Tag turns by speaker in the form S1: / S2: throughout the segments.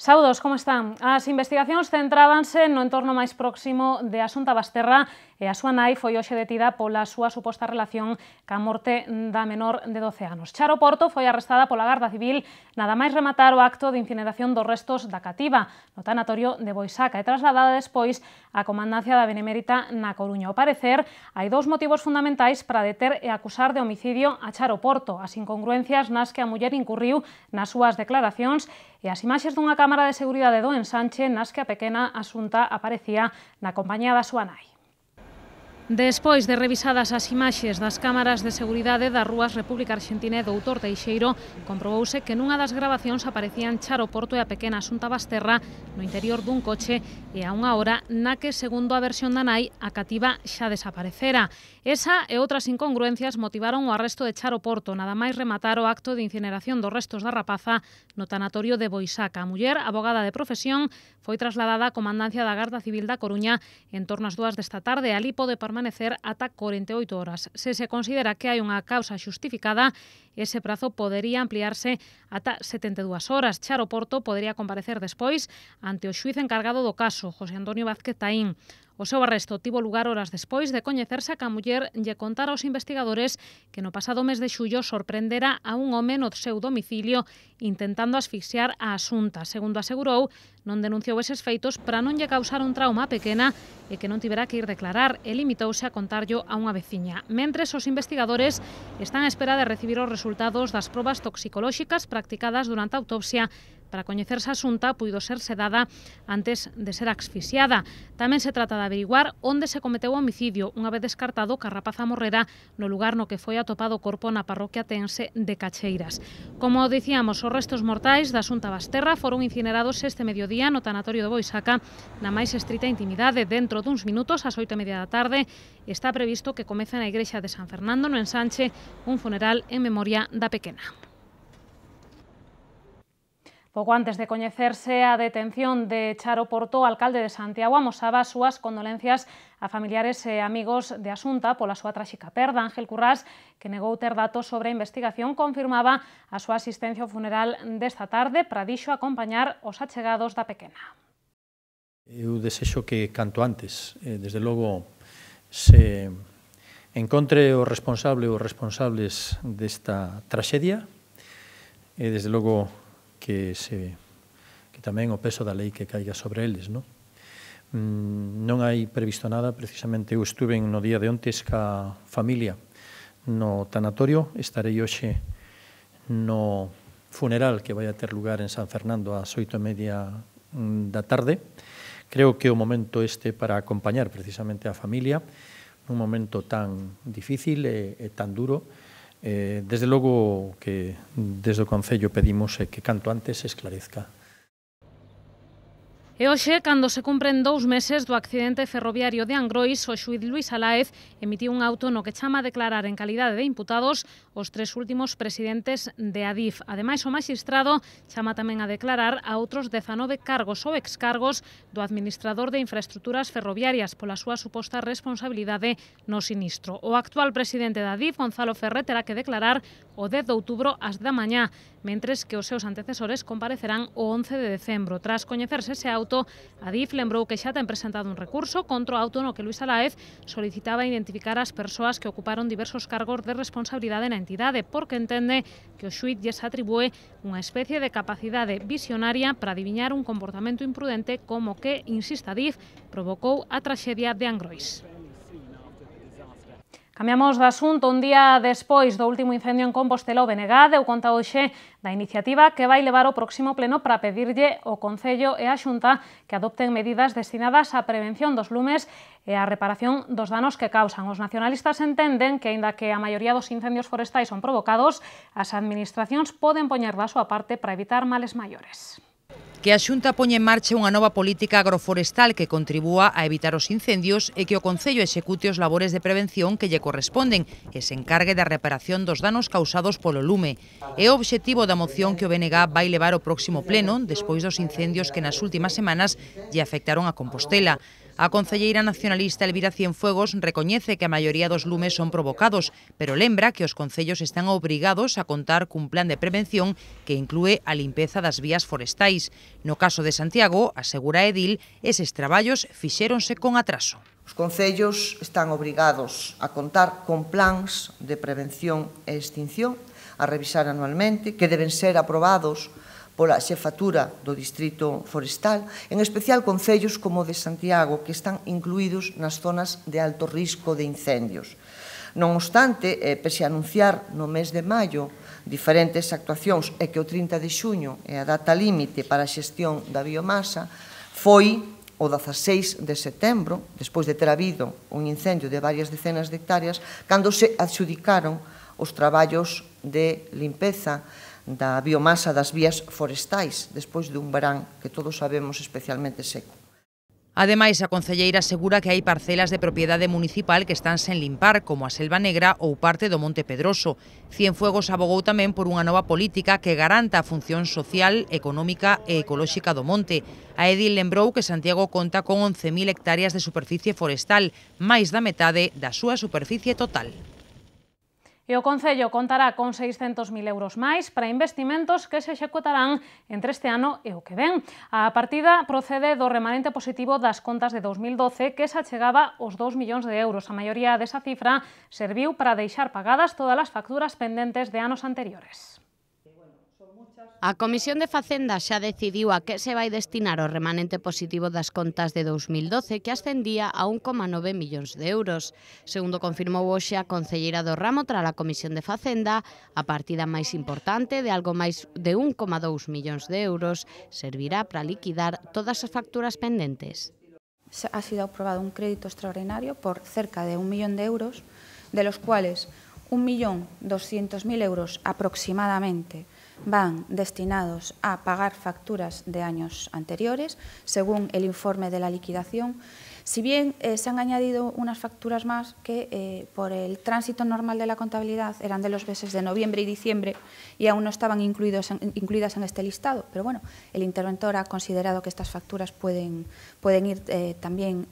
S1: Saúdos, como están? As investigacións centrábanse no entorno máis próximo de Asunta Basterra e a súa nai foi hoxe detida pola súa suposta relación ca morte da menor de 12 anos. Charo Porto foi arrestada pola Garda Civil nada máis rematar o acto de incineración dos restos da cativa no tanatorio de Boisaca e trasladada despois á comandancia da Benemérita na Coruña. Ao parecer, hai dous motivos fundamentais para deter e acusar de homicidio a Charo Porto: as incongruencias nas que a muller incurriu nas súas declaracións e as imaxes dunha cámara de seguridade do ensanche nas que a pequena Asunta aparecía na compañía da súa nai. Despois de revisadas as imaxes das cámaras de seguridade das rúas República Argentina e Doutor Teixeiro, comprobouse que nunha das grabacións aparecían Charo Porto e a pequena Asunta Basterra no interior dun coche e a unha hora na que, segundo a versión da nai, a cativa xa desaparecera. Esa e outras incongruencias motivaron o arresto de Charo Porto nada máis rematar o acto de incineración dos restos da rapaza no tanatorio de Boisaca. A muller, abogada de profesión, foi trasladada á comandancia da Garda Civil da Coruña en torno ás 2 desta tarde. Ali pode permanecer ata 48 horas. Se se considera que hai unha causa xustificada, ese prazo podería ampliarse ata 72 horas. Charo Porto podería comparecer despois ante o xuíz encargado do caso, José Antonio Vázquez Taín. O seu arresto tivo lugar horas despois de coñecerse que a muller lle contara aos investigadores que no pasado mes de xullo sorprendera a un home no seu domicilio intentando asfixiar a Asunta. Segundo asegurou, non denunciou eses feitos para non lle causar un trauma pequena e que non tivera que ir declarar e limitouse a contarllo a unha veciña. Mentres, os investigadores están á espera de recibir os resultados das probas toxicolóxicas practicadas durante a autopsia para coñecer se a Asunta puido ser sedada antes de ser asfixiada. Tamén se trata de averiguar onde se cometeu o homicidio, unha vez descartado que a rapaza morrera no lugar no que foi atopado o corpo na parroquia tense de Cacheiras. Como dicíamos, os restos mortais da Asunta Basterra foron incinerados este mediodía no tanatorio de Boisaca na máis estrita intimidade. Dentro duns minutos, ás 8:30 da tarde, está previsto que comece na igrexa de San Fernando, no ensanche, un funeral en memoria da pequena. Pouco antes de coñecerse a detención de Charo Porto, o alcalde de Santiago amosaba as súas condolencias a familiares e amigos de Asunta pola súa tráxica perda. Ángel Currás, que negou ter datos sobre a investigación, confirmaba a súa asistencia ao funeral desta tarde para dixo acompañar os achegados da pequena.
S2: Eu desexo que canto antes, desde logo, se encontre o responsable ou responsables desta traxedia e desde logo que tamén o peso da lei que caiga sobre eles, non? Non hai previsto nada, precisamente eu estuve no día de ontes ca familia no tanatorio, estarei hoxe no funeral que vai a ter lugar en San Fernando ás 8:30 da tarde. Creo que o momento este para acompañar precisamente a familia nun momento tan difícil e tan duro. Desde logo que desde o Concello pedimos que canto antes se esclarezca.
S1: E hoxe, cando se cumpren 2 meses do accidente ferroviario de Angrois, o xuíz Luís Aláez emitiu un auto no que chama a declarar en calidade de imputados os 3 últimos presidentes de Adif. Ademais, o maxistrado chama tamén a declarar a outros 19 cargos ou excargos do administrador de infraestructuras ferroviarias pola súa suposta responsabilidade no sinistro. O actual presidente de Adif, Gonzalo Ferrer, terá que declarar o 10 de outubro ás 10 da mañá, mentres que os seus antecesores comparecerán o 11 de decembro. Tras coñecerse ese auto, Adif lembrou que xa ten presentado un recurso contra o auto no que Luís Aláez solicitaba identificar as persoas que ocuparon diversos cargos de responsabilidade na entidade, porque entende que o xuíz lles atribúe unha especie de capacidade visionaria para adiviñar un comportamento imprudente como que, insiste Adif, provocou a traxedia de Angrois. Cambiamos de asunto. Un día despois do último incendio en Compostela, o BNG deu conta hoxe da iniciativa que vai levar ao próximo pleno para pedirlle ao Concello e á Xunta que adopten medidas destinadas á prevención dos lumes e á reparación dos danos que causan. Os nacionalistas entenden que, aínda que a maioría dos incendios forestais son provocados, as administracións poden poñer da súa parte para evitar males maiores.
S3: Que a Xunta poña en marcha unha nova política agroforestal que contribúa a evitar os incendios e que o Concello execute os labores de prevención que lle corresponden e se encargue da reparación dos danos causados polo lume. É o obxectivo da moción que o BNG vai levar ao próximo pleno despois dos incendios que nas últimas semanas lle afectaron a Compostela. A concelleira nacionalista Elvira Cienfuegos recoñece que a maioría dos lumes son provocados, pero lembra que os concellos están obrigados a contar cun plan de prevención que inclúe a limpeza das vías forestais. No caso de Santiago, asegura Edil, eses traballos fixéronse con atraso.
S4: Os concellos están obrigados a contar con plans de prevención e extinción, a revisar anualmente, que deben ser aprobados pola xefatura do Distrito Forestal, en especial concellos como o de Santiago, que están incluídos nas zonas de alto risco de incendios. Non obstante, pese a anunciar no mes de maio diferentes actuacións e que o 30 de xuño é a data límite para a xestión da biomasa, foi o 16 de setembro, despois de ter habido un incendio de varias decenas de hectáreas, cando se adxudicaron os traballos de limpeza da biomasa das vías forestais, despois dun verán que todos sabemos especialmente seco.
S3: Ademais, a concelleira asegura que hai parcelas de propiedade municipal que están sen limpar, como a Selva Negra ou parte do Monte Pedroso. Cienfuegos abogou tamén por unha nova política que garanta a función social, económica e ecolóxica do monte. A Edil lembrou que Santiago conta con 11.000 hectáreas de superficie forestal, máis da metade da súa superficie total.
S1: E o Concello contará con 600.000 euros máis para investimentos que se executarán entre este ano e o que ven. A partida procede do remanente positivo das contas de 2012 que se achegaba aos 2 millóns de euros. A maioría desa cifra serviu para deixar pagadas todas as facturas pendentes de anos anteriores.
S5: A Comisión de Facenda xa decidiu a que se vai destinar o remanente positivo das contas de 2012, que ascendía a 1,9 millóns de euros. Segundo confirmou hoxe a concelleira do ramo tras a Comisión de Facenda, a partida máis importante de algo máis de 1,2 millóns de euros servirá para liquidar todas as facturas pendentes.
S6: Ha sido aprobado un crédito extraordinario por cerca de 1 millón de euros, de los cuales 1.200.000 euros aproximadamente van destinados a pagar facturas de años anteriores, según el informe de la liquidación. Si bien se han añadido unas facturas más que por el tránsito normal de la contabilidad eran de los meses de noviembre y diciembre y aún no estaban incluidas en este listado, pero bueno, el interventor ha considerado que estas facturas pueden ir también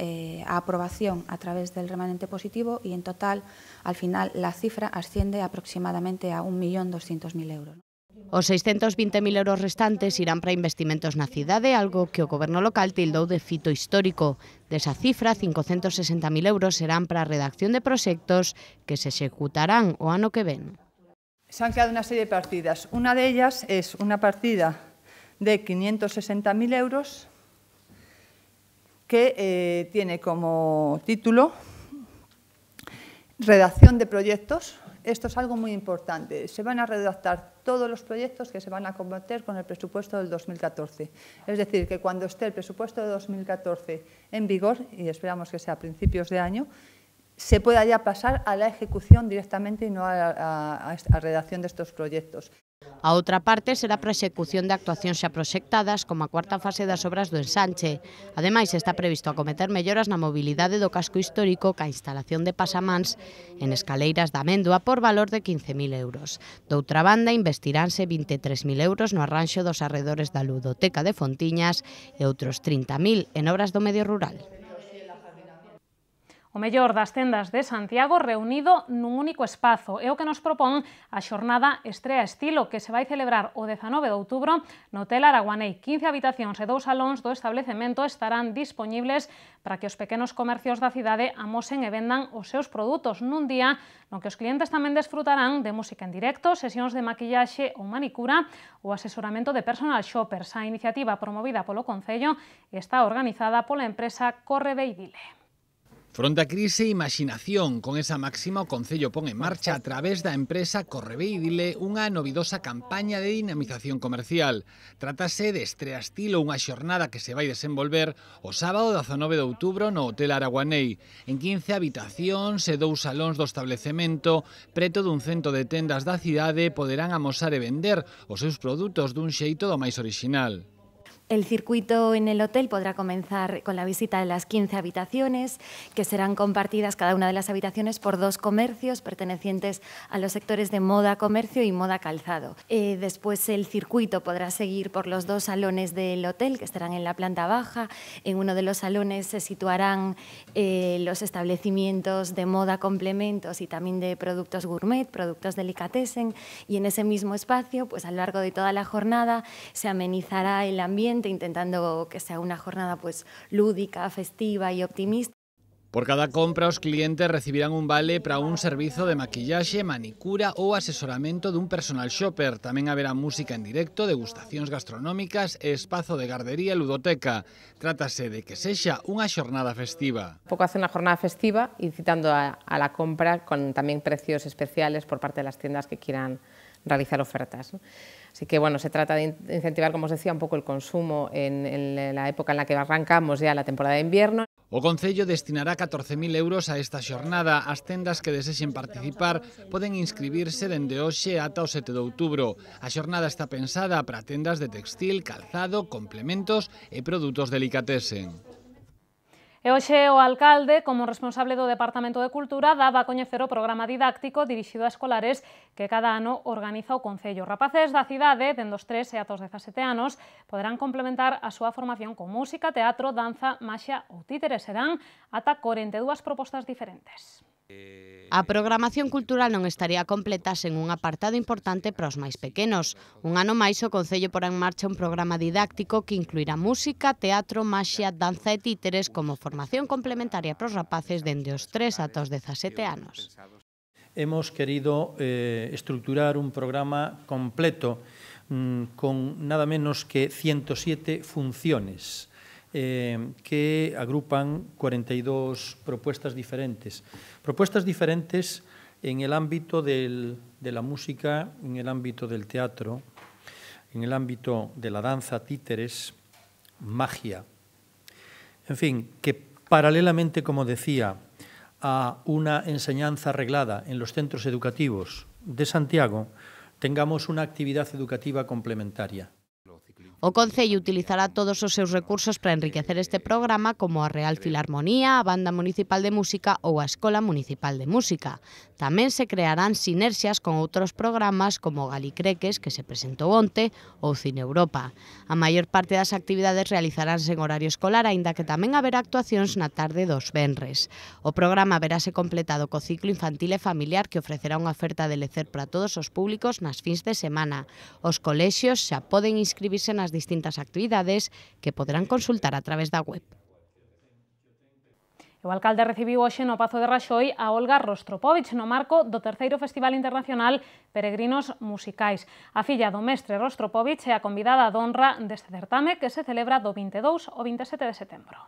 S6: a aprobación a través del remanente positivo y en total, al final, la cifra asciende aproximadamente a 1.200.000 euros.
S5: Os 620.000 euros restantes irán para investimentos na cidade, algo que o Goberno local tildou de fito histórico. Desa cifra, 560.000 euros serán para a redacción de proxectos que se executarán o ano que ven.
S7: Se han creado una serie de partidas. Una de ellas es una partida de 560.000 euros que tiene como título redacción de proyectos. Esto es algo muy importante. Se van a redactar todos los proyectos que se van a combatir con el presupuesto del 2014. Es decir, que cuando esté el presupuesto de 2014 en vigor, y esperamos que sea a principios de año, se pueda ya pasar a la ejecución directamente y no a la redacción de estos proyectos.
S5: A outra parte será para a execución de actuacións xa proxectadas como a cuarta fase das obras do ensanche. Ademais, está previsto acometer melloras na mobilidade do casco histórico ca instalación de pasamáns en escaleiras da Améndoa por valor de 15.000 euros. Doutra banda, investiránse 23.000 euros no arranxo dos arredores da Ludoteca de Fontiñas e outros 30.000 en obras do medio rural.
S1: O mellor das tendas de Santiago reunido nun único espazo é o que nos propón a xornada Estrea Estilo, que se vai celebrar o 19 de outubro no Hotel Araguanei. 15 habitacións e 2 salóns do establecemento estarán dispoñibles para que os pequenos comercios da cidade amosen e vendan os seus produtos nun día no que os clientes tamén desfrutarán de música en directo, sesións de maquillaxe ou manicura ou asesoramento de personal shoppers. A iniciativa promovida polo Concello está organizada pola empresa Correveidile.
S8: Fronte a crise e imaxinación, con esa máxima o Concello pon en marcha a través da empresa Correveidile unha novidosa campaña de dinamización comercial. Trátase de Estrea Estilo, unha xornada que se vai desenvolver o sábado 19 de outubro no Hotel Araguanei. En 15 habitacións e 2 salóns do establecemento, preto dun cento de tendas da cidade poderán amosar e vender os seus produtos dun xeito do máis orixinal.
S9: El circuito en el hotel podrá comenzar con la visita de las 15 habitaciones, que serán compartidas cada una de las habitaciones por 2 comercios pertenecientes a los sectores de moda comercio y moda calzado. Después el circuito podrá seguir por los 2 salones del hotel, que estarán en la planta baja. En uno de los salones se situarán los establecimientos de moda complementos y también de productos gourmet, productos delicatessen, y en ese mismo espacio, pues a lo largo de toda la jornada, se amenizará el ambiente, intentando que sea una jornada pues lúdica, festiva y optimista.
S8: Por cada compra, os clientes recibirán un vale para un servizo de maquillaxe, manicura ou asesoramento dun personal shopper. Tamén haberá música en directo, degustacións gastronómicas e espazo de gardería e ludoteca. Trátase de que sexa unha xornada festiva.
S10: Un pouco hace unha jornada festiva, incitando a la compra con tamén precios especiales por parte de las tiendas que quieran realizar ofertas, ¿no? Así que, bueno, se trata de incentivar, como os decía, un pouco el consumo en la época en la que arrancamos ya la temporada de invierno.
S8: O Concello destinará 14.000 euros a esta xornada. As tendas que desexen participar poden inscribirse dende hoxe ata o 7 de outubro. A xornada está pensada para tendas de textil, calzado, complementos e produtos delicatessen.
S1: E hoxe o alcalde, como responsable do Departamento de Cultura, daba a coñecer o programa didáctico dirixido a escolares que cada ano organiza o Concello. Rapaces da cidade, dende os 3 e ata os 17 anos, poderán complementar a súa formación con música, teatro, danza, maxia ou títeres. Serán ata 42 propostas diferentes.
S5: A programación cultural non estaría completa sen un apartado importante para os máis pequenos. Un ano máis o Concello porá en marcha un programa didáctico que incluirá música, teatro, maxia, danza e títeres como formación complementaria para os rapaces dende os 3 ata os 17 anos.
S2: Hemos querido estructurar un programa completo con nada menos que 107 funciones que agrupan 42 propuestas diferentes. Propuestas diferentes en el ámbito de la música, en el ámbito del teatro, en el ámbito de la danza, títeres, magia. En fin, que paralelamente, como decía, a una enseñanza reglada en los centros educativos de Santiago, tengamos una actividad educativa complementaria.
S5: O Concello utilizará todos os seus recursos para enriquecer este programa, como a Real Filarmonía, a Banda Municipal de Música ou a Escola Municipal de Música. Tamén se crearán sinerxias con outros programas como Galicreques, que se presentou onte, ou Cine Europa. A maior parte das actividades realizaránse en horario escolar, aínda que tamén haberá actuacións na tarde dos venres. O programa verase completado co ciclo infantil e familiar, que ofrecerá unha oferta de lecer para todos os públicos nas fins de semana. Os colexios xa poden inscribirse nas distintas actividades que poderán consultar a través da web.
S1: O alcalde recibiu hoxe no Pazo de Raxoi a Olga Rostropovich no marco do terceiro Festival Internacional Peregrinos Musicais. A filla do mestre Rostropovich é a convidada de honra deste certame que se celebra do 22 ao 27 de setembro.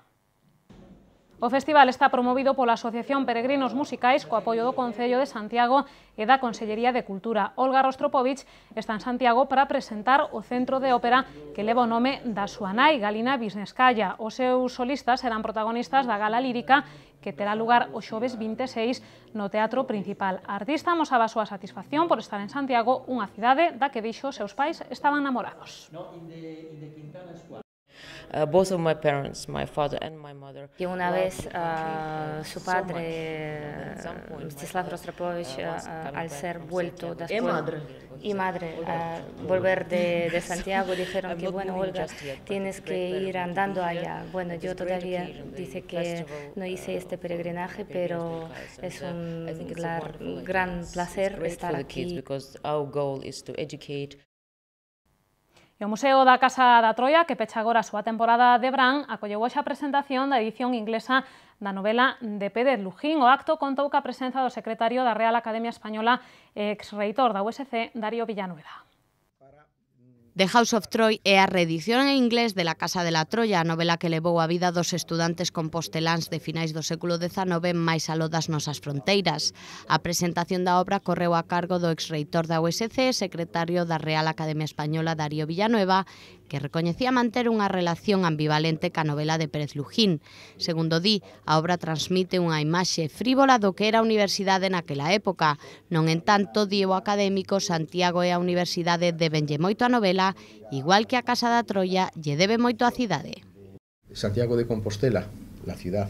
S1: O festival está promovido pola Asociación Peregrinos Musicais co apoio do Concello de Santiago e da Consellería de Cultura. Olga Rostropovich está en Santiago para presentar o centro de ópera que leva o nome da súa nai, Galina Visneskaya. Os seus solistas serán protagonistas da gala lírica que terá lugar o xoves 26 no Teatro Principal. A artista amosaba a súa satisfacción por estar en Santiago, unha cidade da que dixo seus pais estaban namorados.
S11: Both of my parents, my father and my mother.
S12: Y una vez su padre, Mstislav Rostropovich, al ser vuelto después, y madre, volver de Santiago, dijeron que, bueno, Olga, tienes que ir andando allá. Bueno, yo todavía dice que no hice este peregrinaje, pero es un gran placer estar aquí.
S1: E o Museo da Casa da Troia, que pecha agora a súa temporada de verán, acolleu hoxe a presentación da edición inglesa da novela de Pérez Lujín. O acto contou ca presenza do secretario da Real Academia Española e ex-reitor da USC, Darío Villanueva.
S5: The House of Troy é a reedición en inglés de La Casa de la Troya, a novela que levou a vida dos estudantes composteláns de finais do século XIX máis aló das nosas fronteiras. A presentación da obra correu a cargo do ex-reitor da USC, secretario da Real Academia Española, Darío Villanueva, que recoñecía manter unha relación ambivalente ca novela de Pérez Lujín. Segundo di, a obra transmite unha imaxe frívola do que era a universidade naquela época. Non entanto, di o académico, Santiago e a universidade debenlle moito a novela Compostela, igual que a Casa da Troia, lle debe moito á cidade.
S13: Santiago de Compostela, la ciudad,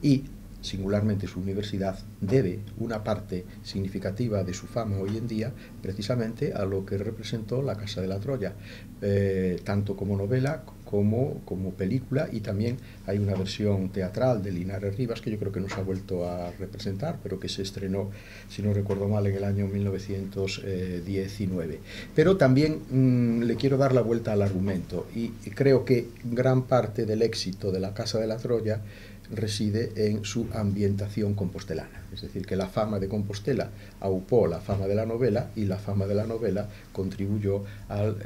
S13: y singularmente su universidad, debe una parte significativa de su fama hoy en día precisamente a lo que representó la Casa de la Troya, tanto como novela como película, y también hay una versión teatral de Linares Rivas que yo creo que no se ha vuelto a representar, pero que se estrenó, si no recuerdo mal, en el año 1919. Pero también le quiero dar la vuelta al argumento, y creo que gran parte del éxito de la Casa de la Troya reside en su ambientación compostelana, es decir, que la fama de Compostela aupó la fama de la novela, y la fama de la novela contribuyó al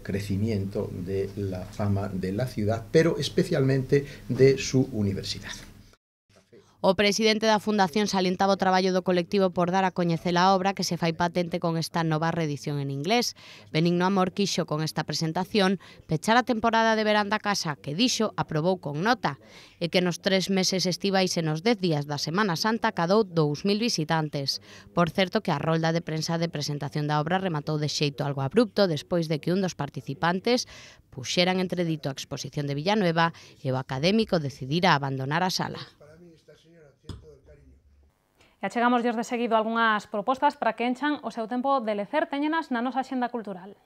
S13: crecimiento de la fama de la ciudad, pero especialmente de su universidad.
S5: O presidente da Fundación salientaba o traballo do colectivo por dar a coñecer a obra que se fai patente con esta nova reedición en inglés. Benigno Amor quixo con esta presentación pechar a temporada de verán da casa que dixo aprobou con nota e que nos 3 meses estivais e nos 10 días da Semana Santa cadou 2.000 visitantes. Por certo que a rolda de prensa de presentación da obra rematou de xeito algo abrupto despois de que un dos participantes puxeran entredito a exposición de Villanueva e o académico decidira abandonar a sala.
S1: E achegamos de seguido algunhas propostas para que enchan o seu tempo de lecer, teñenas na nosa axenda cultural.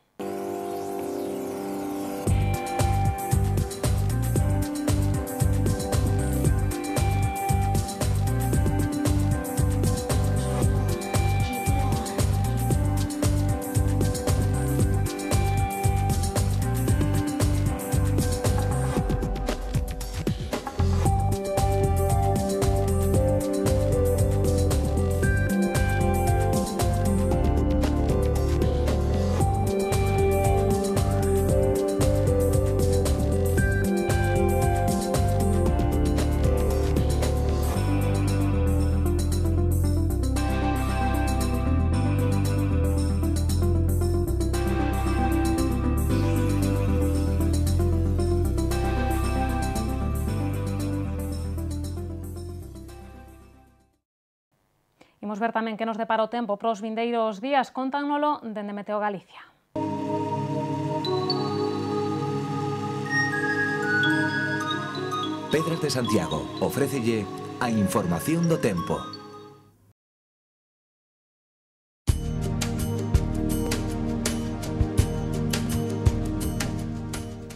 S1: Imos ver tamén que nos depara o tempo para os vindeiros días, contánnolo dende Meteo Galicia.
S14: Pedras de Santiago ofrécelle a información do tempo.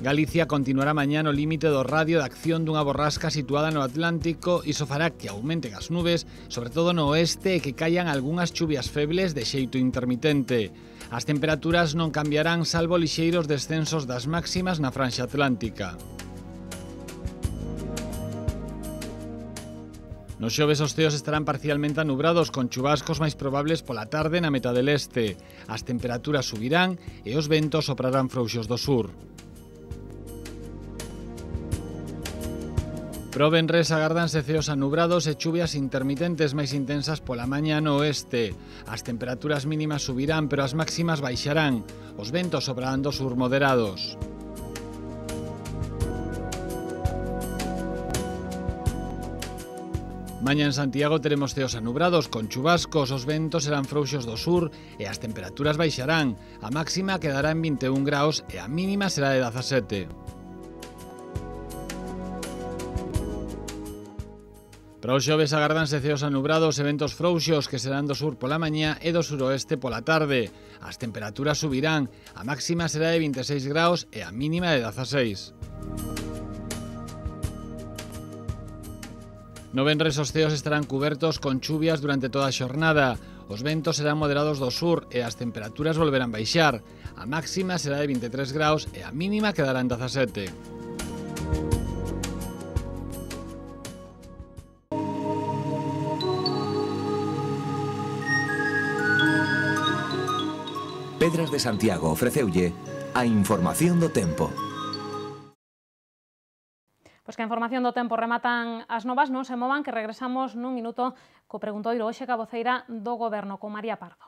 S8: Galicia continuará mañá no límite do radio de acción dunha borrasca situada no Atlántico, e iso fará que aumenten as nubes, sobre todo no oeste, e que caian algunhas chuvias febles de xeito intermitente. As temperaturas non cambiarán salvo lixeiros descensos das máximas na franxa atlántica. Nos xoves os ceos estarán parcialmente anubrados con chubascos máis probables pola tarde na metade leste. As temperaturas subirán e os ventos soprarán frouxos do sur. Pro venres agárdanse ceos anubrados e chuvias intermitentes máis intensas pola mañá no oeste. As temperaturas mínimas subirán, pero as máximas baixarán. Os ventos soprarán do sur moderados. Mañá en Santiago teremos ceos anubrados con chubascos, os ventos serán frouxos do sur e as temperaturas baixarán. A máxima quedará en 21 graus e a mínima será de 17. Para os xoves agárdanse ceos anubrados e ventos frouxos que serán do sur pola mañá e do suroeste pola tarde. As temperaturas subirán, a máxima será de 26 graus e a mínima de 16. No venres os ceos estarán cubertos con chuvias durante toda a xornada. Os ventos serán moderados do sur e as temperaturas volverán baixar. A máxima será de 23 graus e a mínima quedará en 17.
S14: Pedras de Santiago ofreceulle a información do tempo.
S1: Pois que a información do tempo rematan as novas, non se movan, que regresamos nun minuto co preguntoiro hoxe ca voceira do Goberno, con María Pardo.